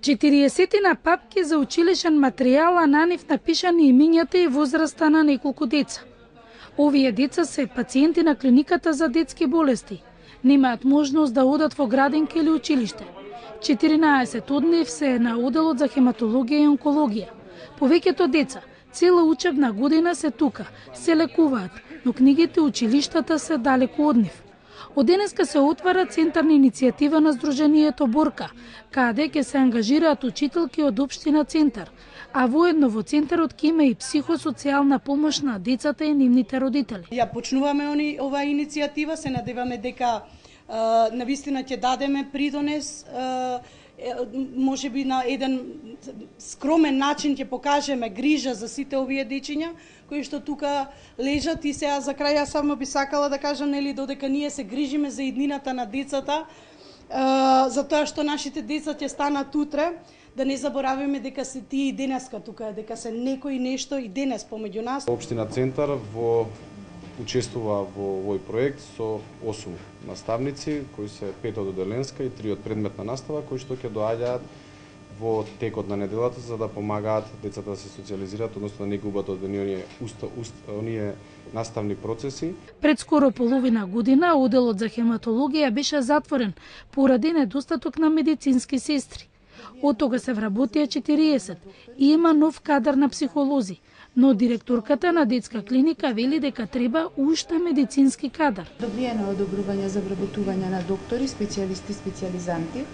40 папки за училишен материјал, а на нив напишани имињата и возраста на неколку деца. Овие деца се пациенти на клиниката за детски болести. Немаат можност да одат во градинка или училиште. 14 од нив се на оделот за хематологија и онкологија. Повеќето деца цела учебна година се тука, се лекуваат, но книгите училиштата се далеку од нив. Од денеска се отвара центар на иницијатива на Сдруженијето Борка, каде ќе се ангажираат учителки од општина Центар, а воедно во центарот ќе има и психосоцијална помош на децата и нивните родители. Ја почнуваме оваа иницијатива, се надеваме дека навистина ќе дадеме придонес, можеби на еден скромен начин ќе покажеме грижа за сите овие дечиња кои што тука лежат. И сега за крај јас само би сакала да кажам, нели, додека ние се грижиме за иднината на децата, за тоа што нашите деца ќе станат утре, да не заборавиме дека се тие и денеска тука, дека се некој нешто и денес помеѓу нас. Општина Центар учествува во овој проект со 8 наставници, кои се 5 од оделенска и 3 од предметна настава, кои што ќе доаѓаат во текот на неделата за да помагаат децата да се социјализираат, односно да не губат од оние наставни процеси. Пред скоро половина година оделот за хематологија беше затворен поради недостаток на медицински сестри. Од тога се вработија 40 и има нов кадар на психолози, но директорката на детска клиника вели дека треба уште медицински кадар. Добиено е одобрување за вработување на доктори, специјалисти, специјализанти,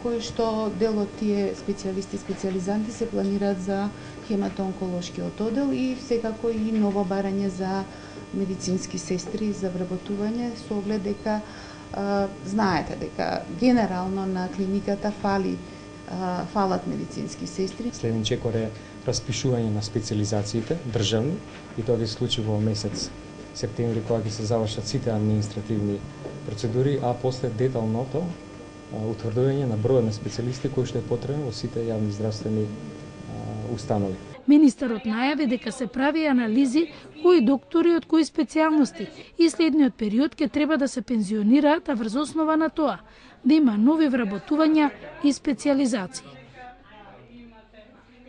кои што дел од тие специјалисти и специјализанти се планираат за хематоонколошкиот одел и секако и ново барање за медицински сестри за вработување со оглед дека знаете дека генерално на клиниката фалат медицински сестри. Следен чекор е распишување на специјализациите државни и тоа ќе се случи во месец септември кога ќе се завршат сите административни процедури, а после деталното утврдување на бројот на специјалисти кои што е потребен во сите јавни здравствени установи. Министерот најави дека се прави анализи кои доктори од кои специјалности и следниот период ќе треба да се пензионираат, а врз основа на тоа да има нови вработувања и специјализации.